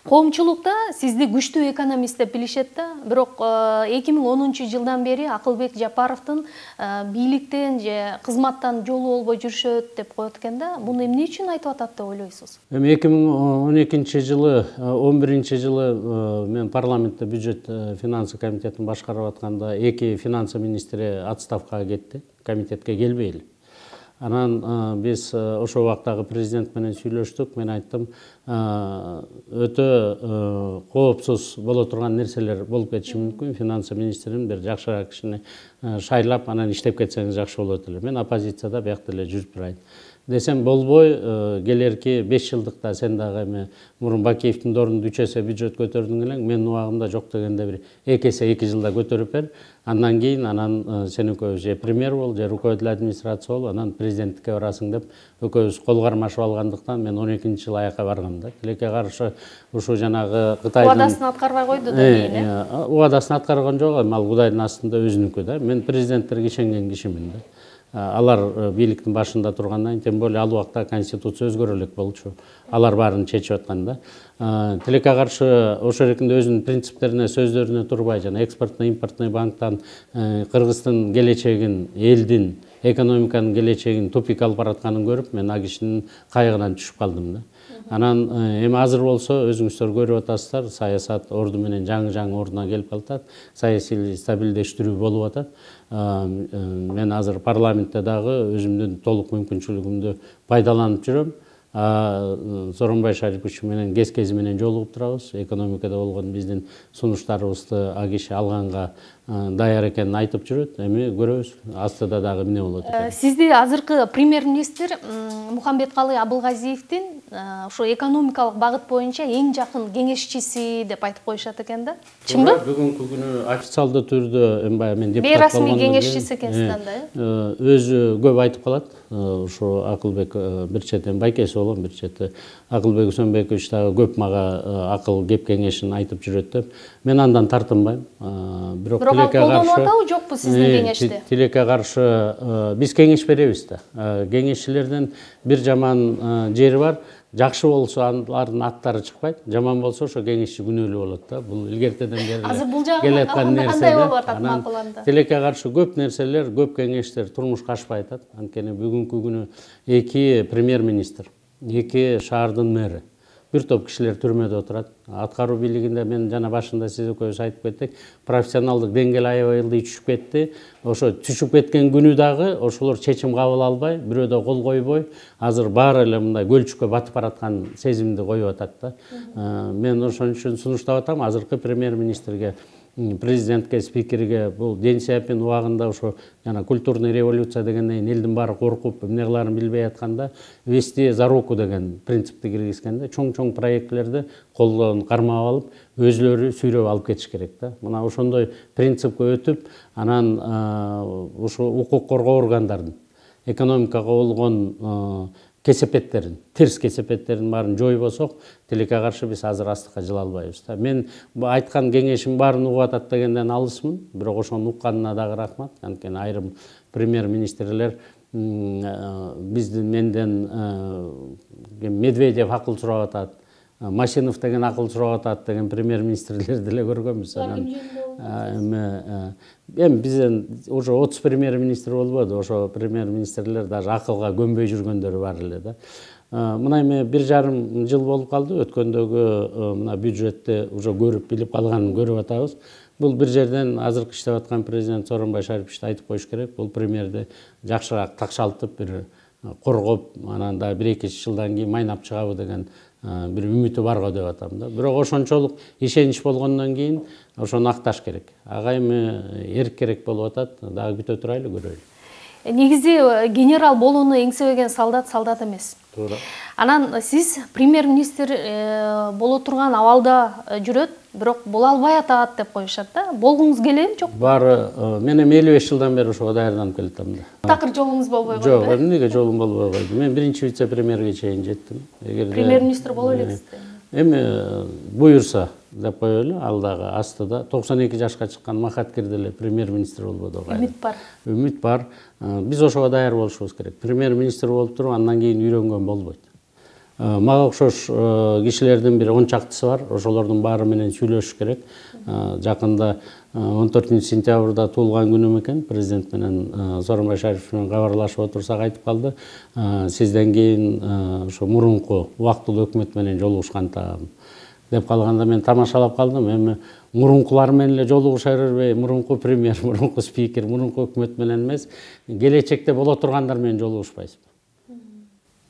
Коомчулукта сизди күчтүү экономист деп билишет да, бирок 2010-жылдан бери Акылбек Жапаровдун бийликтен же кызматтан жолу болбой жүрүшөт деп коет экен да. Буну эмне үчүн айтып атат деп ойлойсуз? Эми 2012-жылы, 11-жылы мен парламентте бюджет финансы комитетин башкарып атканда эки финансы министри отставкага кетти, комитетке келбей эле. Анан биз ошол убактагы президент менен сүйлөштүк. Мен айттым, өтө коопсуз боло турган нерселер болуп кетиши мүмкүн. Финансы министрин бир жакшыраак кишини шайлап, анан иштеп кетсеңиз жакшы болот эле. Мен оппозицияда биякта эле жүрүп турайын десем болбой, келерки 5 жылдыкта сен дагы эми мурун Бакиевдин ордунда 3 эсе бюджет көтөрдүң элең, менин убагымда жок дегенде бир 2 эсе 2 жылда көтөрүп бер. Андан кийин сен экөөбүз же премьер бол, же руководитель администрация бол, анан президенттикке барасың деп экөөбүз кол кармашып алгандыктан мен 12-жылы аяка баргам да. Тилекке каршы ушу жанагы Кытайдын убадасын аткарбай койду да кийин. Убадасын аткарган жок, ал Кудайдын астында өзүнүкү да. Мен президенттерге ишенген кишимин да. Алар бийликтин башында тургандан, тем более ал убакта конституция өзгөрө элек болчу. Алар баарын чечип аткан да. Тилекке каршы ошол эркинде өзүнүн принциптерине, сөздөрүнө турбай, жана экспортный импортный банктан Кыргыздын келечегин, элдин, экономиканын келечегин тупик алып баратканын көрүп, мен ал кишинин кайгынан түшүп калдым да. Анан эми азыр болсо өзүңүздөр көрүп атасыздар, саясат орду менен жаңы ордуна келип калат, саясий стабилдештирүү болуп атат. Мен азыр парламентте дагы өзүмдүн толук мүмкүнчүлүгүмдү пайдаланып жүрөм. Сооронбай Шарипович менен кез-кези менен жолугуп турабыз. Экономикада болгон биздин сунуштарыбызды ал киши алганга даяр экенин айтып жүрөт. Эми көрөбүз, астыда дагы эмне болот экен. Сизди азыркы премьер-министр Мухамбеткалый Абылгазиевдин ошо экономикалык багыт боюнча эң жакын кеңешчиси деп айтып коюшат экен да. Чынбы? Бүгүнкү күнү официалдуу түрдө баягы мен депутат бейрасмий кеңешчиси экенсиз анда. Өзү көп айтып калат. Ошо Акылбек бир четен байкеси болгон, бир чети Акылбек Үсөнбекович дагы көп мага акыл кеп кеңешин айтып жүрөт деп. Мен андан тартынбайм. Бирок тилекке каршы атабы жокпу сиздин кеңешти? Тилекке каршы биз кеңеш беребиз да. Кеңешчилердин бир жаман жери бар. Жакшы болсо алардын аттары чыкпайт, жаман болсо ошо кеңешчи күнөөлүү болот да. Бул илгертеден бери келаткан нерсе. Тилекке каршы көп нерселер, көп кеңештер турмушка ашпай атат. Анткени бүгүнкү күнү эки премьер-министр, эки шаардын мэри, бир топ кишилер түрмөдө отурат. Аткаруу бийлигинде мен жана башында сиз экөөбүз айтып кеттик, профессионалдык деңгээл аябай ылдый түшүп кетти. Ошо түшүп кеткен күнү дагы ошолор чечим кабыл албай, бирөө да кол койбой, азыр баары эле мындай көлчүккө батып бараткан сезимди коюп атат да. Мен ошон үчүн сунуштап атам, азыркы премьер-министрге, президентке, спикерге бул Дэн Сяопин убагында ошо жана культурный революция дегенден элдин баары коркуп, эмне кыларын билбей атканда вести за руку деген принципти киргизгенде чоң проектлерди колдон кармап алып, өзүлөрү сүйрөп алып кетиш керек да. Мына ошондой принципке өтүп, анан ушу укук коргоо органдарын, экономикага болгон кесепеттерин, терс кесепеттерин баарын жойбосок, тилекке каршы биз азыр астыкка жыла албайбыз да. Мен айткан кеңешим баарын угуп атат дегенден алысмын, бирок ошону укканына дагы рахмат. Анткени айрым премьер-министрлер менден Медведев акыл сурап атат, Машинов деген акыл сурап атат деген премьер-министрлерди деле көргөнбүз. Эми бизден уже 30 премьер-министр болбоду, ошо премьер-министрлер даже акылга көнбөй жүргөндөрү бар эле да. Мына эми 1,5 жыл болуп калды, өткөндөгү мына бюджетти уже көрүп билип калганын көрүп атабыз. Бул бир жерден азыркы иштеп аткан президент Сооронбай Шарипович айтып коюш керек, бул премьерди жакшыраак такшалтып бир коргоп, анан да 1-2 жылдан кийин майнап чыгабы деген бир үмүтү барго деп атам да. Бирок ошончолук ишенич болгондон кийин ошону акташ керек. Ага эми эрк керек болуп атат, дагы күтө турайлы, көрөлү. Негизи генерал болууну эңсебеген солдат эмес. Туура. Анан сиз премьер-министр боло турган абалда жүрөт, бирок боло албай атат деп коюшат да. Болгуңуз келеби, жокпу? Баары мен эми 55 жылдан бери ошого даярданып келатам да. Такыр жолуңуз болбой койду. Жок, эмнеге жолум болбой койду? Мен биринчи вице-премьерге чейин жеттим. Премьер-министр боло элексиз. Эми буюрса деп коелу, ал дагы астыда 92 жашка чыккан Махаткир деле премьер-министр болбоду. Үмүт бар. Үмүт бар. Биз ошого даяр болушубуз керек. Премьер-министр болуп туруп, андан кийин үйрөнгөн болбойт. Мага окшош кишилердин бир 10 чактысы бар. Ошолордун баары менен сүйлөшүш керек. Жакында 14 сентябрда туулган күнүм экен. Президент менен Сооронбай Шарипович менен кабарлашып отурсак айтып калды. Сизден кийин ошо мурунку убактылуу өкмөт менен жолугушкан деп калганда мен тамашалап калдым. Эми мурункулар менен эле жолугуша бербей, мурунку премьер, мурунку спикер, мурунку өкмөт менен эмес, келечекте боло тургандар менен жолугушпайсызбы?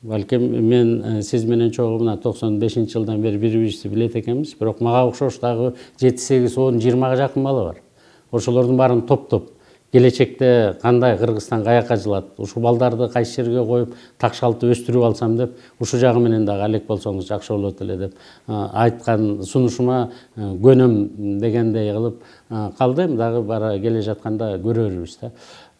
Балким мен сиз менен чогуу мына 95-жылдан бери бири-бирибизди билет экенбиз, бирок мага окшош дагы 7-8, 10, 20га жакын бала бар. Ошолордун баарын топтоп келечекте кандай Кыргызстан каяка жылат, ушул балдарды кайсы жерге коюп такшалтып өстүрүп алсам деп, ушул жагы менен дагы алек болсоңуз жакшы болот эле деп айткан сунушума көнөм дегендей кылып калдым. Дагы бара келе жатканда көрөрбүз да.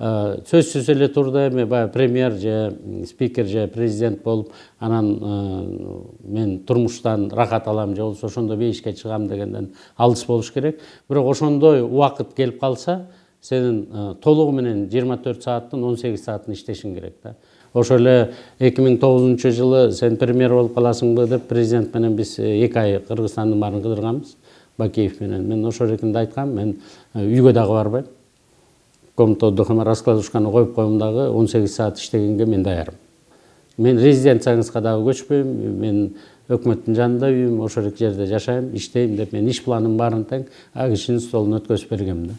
Сөзсүз эле турду эми баягы премьер же спикер же президент болуп, анан мен турмуштан рахат алам же болбосо ошондой бейишке чыгам дегенден алыс болуш керек. Бирок ошондой убакыт келип калса, сенин толугу менен 24 сааттын 18 саатын иштешиң керек да. Ошо эле 2009-жылы сен премьер болуп каласыңбы деп президент менен биз 2 ай Кыргызстандын баарын кыдырганбыз, Бакеев менен. Мен ошол эркинде айткам, мен үйгө дагы барбайм. Комната отдыхына раскладушканы коюп коем дагы 18 саат иштегенге мен даярмын. Мен резиденцияңызга дагы көчпөйм, мен өкмөттүн жанында үйүм, ошол жерде жашайм, иштейм деп мен иш планымын баарын тең кишинин столуна өткөзүп бергем да.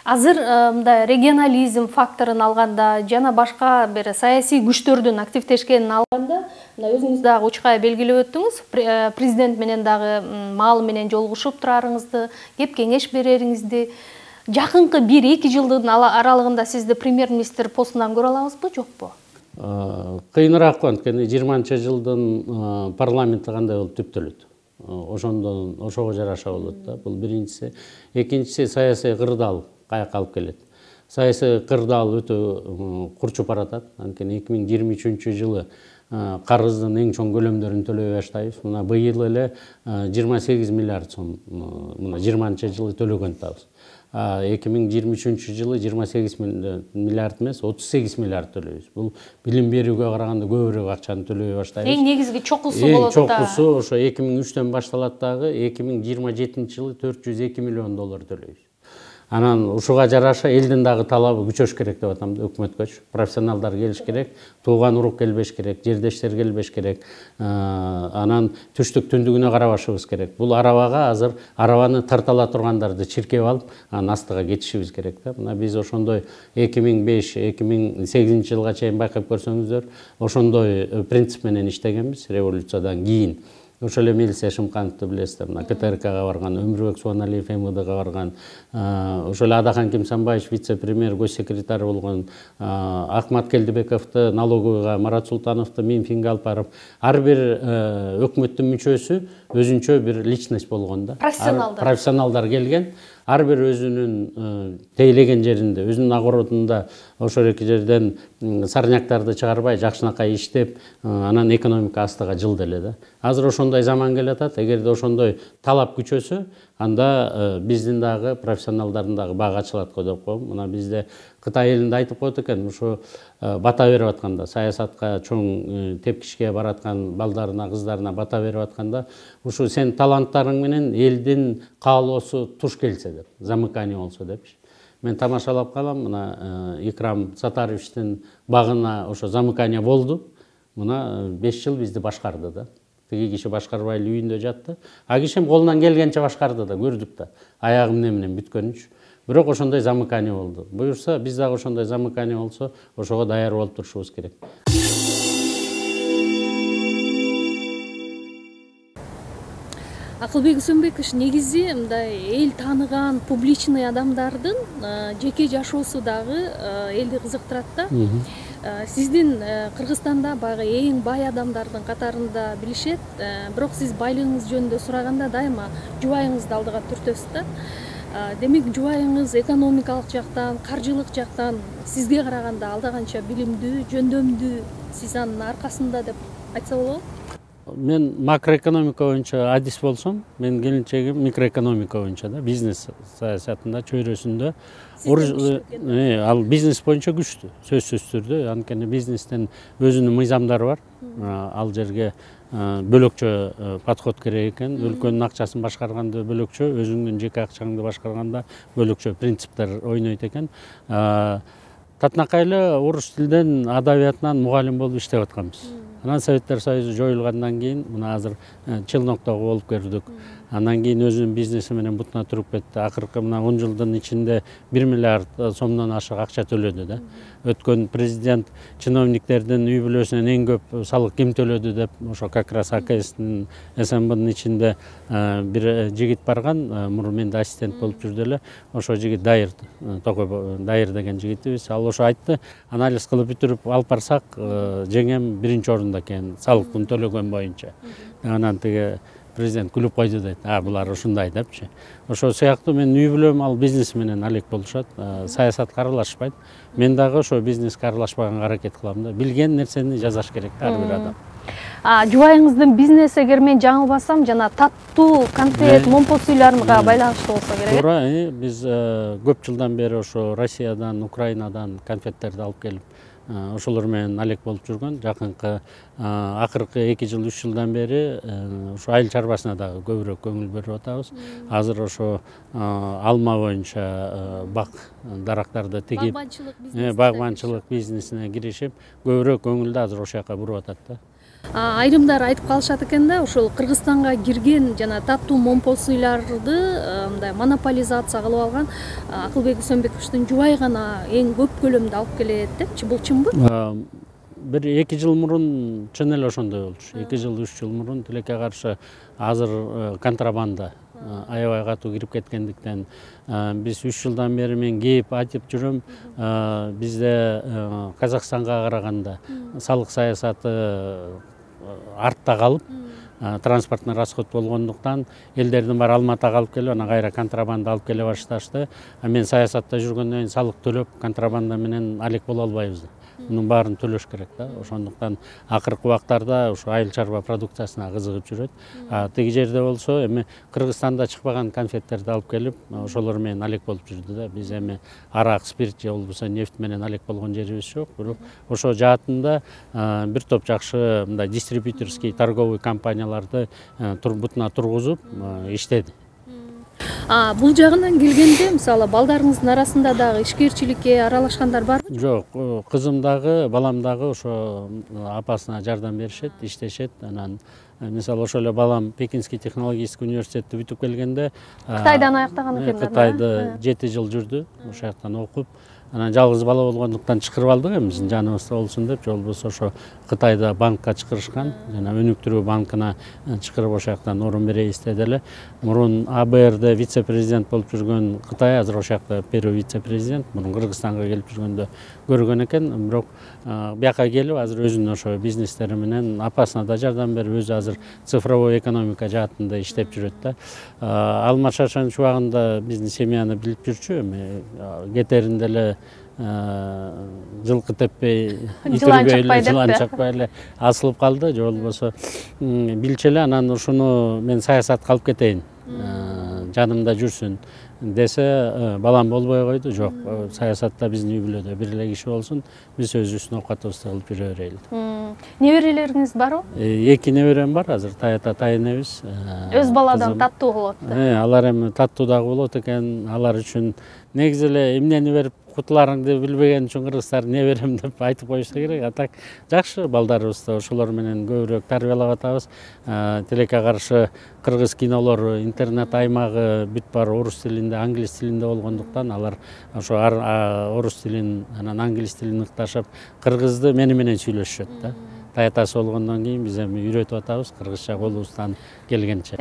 Азыр мындай регионализм факторун алганда жана башка бир саясий күчтөрдүн активдешкенин алганда, өзүңүз дагы учкай белгилеп өттүңүз, президент менен дагы маалы менен жолугушуп турарыңызды, кеп кеңеш берериңизди. Жакынкы 1-2 жылдын аралыгында сизди премьер-министр постунан көрө алабызбы, жокпу? Кыйыныраак, анткени 20-жылдын парламенти кандай болуп түптөлөт. Ошого жараша болот да. Бул биринчиси. Экинчиси, саясий кырдаал каяка алып келет. Саясий кырдаал өтө курчуп баратат. Анткени 2023-жылы карыздын эң чоң көлөмдөрүн төлөй баштайбыз. Мына быйыл эле 28 миллиард сом, мына 20-жылы төлөгөн атабыз. 2023-жылы 28 миллиард эмес, 38 миллиард төлөйбүз. Бул билим берүүгө караганда көбүрөөк акчаны төлөй баштайбыз. Эң негизги чокусу болот да. Эң чокусу ошо 2003-төн башталат дагы, 2027-жылы 402 миллион доллар төлөйбүз. Анан ушуга жараша элдин дагы талабы күчөш керек деп атам да, өкмөткөчү. Профессионалдар келиш керек, тууган урук келбеш керек, жердештер келбеш керек. Анан түштүк түндүгүнө карабашыбыз керек. Бул арабага азыр арабаны тартала тургандарды чиркеп алып, анан астыга кетишибиз керек да. Мына биз ошондой 2005-2008 жылга чейин байкап көрсөңүздөр, ошондой принцип менен иштегенбиз революциядан кийин. Ошол эле Милиция Шымкановду билесиздер, мына КТРКга барган, Өмүрбек Суаналиев МВДга барган, ошол эле Адахан Кимсанбаевич вице-премьер, госсекретарь болгон, Акмат Келдибековду налоговыйга, Марат Султановду Минфинге алып барып, ар бир өкмөттүн мүчөсү өзүнчө бир личность болгон да. Профессионалдар келген, ар бир өзүнүн тейлеген жеринде, өзүнүн огородунда ошол эки жерден сарняктарды чыгарбай, жакшынакай иштеп, анан экономика астыга жылды эле да. Азыр ошондой заман келатат. Эгерде ошондой талап күчөсө, анда биздин дагы профессионалдардын дагы баага ачылат го деп коем. Мына бизде Кытай элинде айтып коет экен, ушу бата берип атканда, саясатка чоң тепкичке бараткан балдарына, кыздарына бата берип атканда, ушу сен таланттарың менен элдин каалоосу туш келсе деп, замыкание болсо депчи. Мен тамашалап калам, мына Икрам Сатаровичтин багына ошо замыкание болду. Мына 5 жыл бизди башкарды да. Тиги киши башкарбай эле үйүндө жатты. А кишим колунан келгенче башкарды да, көрдүк да. Аягы эмне менен бүткөнүнчү. Бирок ошондой замыкание болду. Буюрса, биз дагы ошондой замыкание болсо, ошого даяр болуп турушубуз керек. Акылбек Үсөнбекович, негизи мындай эл тааныган публичный адамдардын жеке жашоосу дагы элди кызыктырат да. Сиздин Кыргызстанда баягы эң бай адамдардын катарында билишет, бирок сиз байлыгыңыз жөнүндө сураганда дайыма жубайыңызды алдыга түртөсүз да. Демек, жубайыңыз экономикалык жактан, каржылык жактан сизге караганда алда канча билимдүү, жөндөмдүү, сиз анын аркасында деп айтса болобу? Мен макроэкономика боюнча адис болсом, мен келинчегим микроэкономика боюнча да, бизнес саясатында чөйрөсүндө ал бизнес боюнча күчтүү, сөзсүз түрдө. Анткени бизнестин өзүнүн мыйзамдары бар. Ал жерге бөлөкчө подход керек экен. Өлкөнүн акчасын башкарганда бөлөкчө, өзүңдүн жеке акчаңды башкарганда бөлөкчө принциптер ойнойт экен. Татынакай эле орус тилден, адабиятынан мугалим болуп иштеп атканбыз. Анан Советтер Союзу жоюлгандан кийин мына азыр Челноктогу болуп көрдүк. Андан кийин өзүнүн бизнеси менен бутуна туруп кетти. Акыркы мына 10 жылдын ичинде 1 миллиард сомдон ашык акча төлөдү да. Өткөн президент чиновниктердин үй бүлөсүнөн эң көп салык ким төлөдү деп ошо как раз АКСтин СМБнын ичинде бир жигит барган, мурун менде ассистент болуп жүрдү эле. Ошо жигит Дайыр, Токой Дайыр деген жигитибиз. Ал ошо айтты, анализ кылып бүтүрүп алып барсак, жеңем 1-чи орунда экен салыктын төлөгөн боюнча. Анан тиги президент күлүп койду дейт. Булар ушундай депчи. Ошо сыяктуу менин үй бүлөм ал бизнес менен алек болушат. Саясатка аралашпайт. Мен дагы ошо бизнеске аралашпаганга аракет кылам да. Билген нерсени жазаш керек ар бир адам. Жубайыңыздын бизнеси, эгер мен жаңылбасам, жана таттуу конфет, момпос үйлөргө байланыштуу болсо керек. Туура, биз көп жылдан бери ошо Россиядан, Украинадан конфеттерди алып келип, ошолор менен алек болуп жүргөн. Жакынкы акыркы 2 жыл, 3 жылдан бери ошо айыл чарбасына дагы көбүрөөк көңүл берип атабыз. Азыр ошо алма боюнча бак дарактарды тигип, багбанчылык бизнесине киришип, көбүрөөк көңүлдү азыр ошол жака буруп атат да. Айрымдар айтып калышат экен да, ошол Кыргызстанга кирген жана таттуу момпос ыйларды мындай монополизация кылып алган Акылбек Үсөнбековичтин жубайы гана эң көп көлөмдө алып келет депчи. Бул чынбы? Бир 2 жыл мурун чын эле ошондой болчу. 2 жыл, 3 жыл мурун тилекке каршы азыр контрабанда аябай катуу кирип кеткендиктен биз 3 жылдан бери мен кээп айтып жүрөм, бизде Казакстанга караганда салык саясаты артта калып, транспортный расход болгондуктан элдердин баары Алматыга алып келип, анан кайра контрабанда алып келе башташты. Мен саясатта жүргөндөн кийин салык төлөп, контрабанда менен алек боло албайбыз. Мунун баарын төлөш керек да. Ошондуктан акыркы убактарда ошо айыл чарба продукциясына кызыгып жүрөт. Тиги жерде болсо эми Кыргызстанда чыкпаган конфеттерди алып келип, ошолор менен алек болуп жүрдү да. Биз эми арак, спирт же болбосо нефть менен алек болгон жерибиз жок. Бирок ошо жаатында бир топ жакшы мындай дистрибьюторский торговый компанияларды бутуна тургузуп иштеди. Бул жагынан келгенде, мисалы, балдарыңыздын арасында дагы ишкерчиликке аралашкандар барбы? Жок, кызым дагы, балам дагы ошо апасына жардам беришет, иштешет. Анан мисалы ошол эле балам Пекинский технологический университетти бүтүп келгенде, Кытайдан аяктаган экен да. Кытайда 7 жыл жүрдү, ошол жактан окуп. Анан жалгыз бала болгондуктан чакырып алдык эми биздин жаныбызда болсун деп, же болбосо ошо Кытайда банкка чакырышкан, жана өнүктүрүү банкына чакырып ошол жактан орун беребиз деди эле. Мурун АБРде вице-президент болуп жүргөн Кытай азыр ошол жакта первый вице-президент, мурун Кыргызстанга келип жүргөндө көргөн экен, бирок бияка келип азыр өзүнүн ошо бизнестери менен апасына да жардам берип, өзү азыр цифровой экономика жаатында иштеп жүрөт да. Алма Шашан чубагында биздин семьяны билип жүрчү, эми кетеринде эле жылкы теппей, жылан чакпай эле асылып калды, же болбосо билчү эле, анан ушуну мен саясатка алып кетейин, жанымда жүрсүн десе, балам болбой койду. Жок, саясатта биздин үй бүлөдө бир эле киши болсун, биз өзүбүздүн оокатыбызды кылып жүрө берели. Неберелериңиз барбы? 2 неберем бар, азыр тайата тайынебиз. Өз баладан таттуу болот. Алар эми таттуу дагы болот экен, алар үчүн негизи эле эмнени берип кутуларыңды билбеген үчүн кыргыздар неберем деп айтып коюшса керек. А так жакшы балдарыбызды ошолор менен көбүрөөк тарбиялап атабыз. Тилекке каршы кыргыз кинолору, интернет аймагы бүт баары орус тилинде, англис тилинде болгондуктан алар ошо орус тилин, анан англис тилин ыкташып, кыргызды мени менен сүйлөшүшөт да. Таятасы болгондон кийин биз эми үйрөтүп атабыз кыргызча колубуздан келгенче.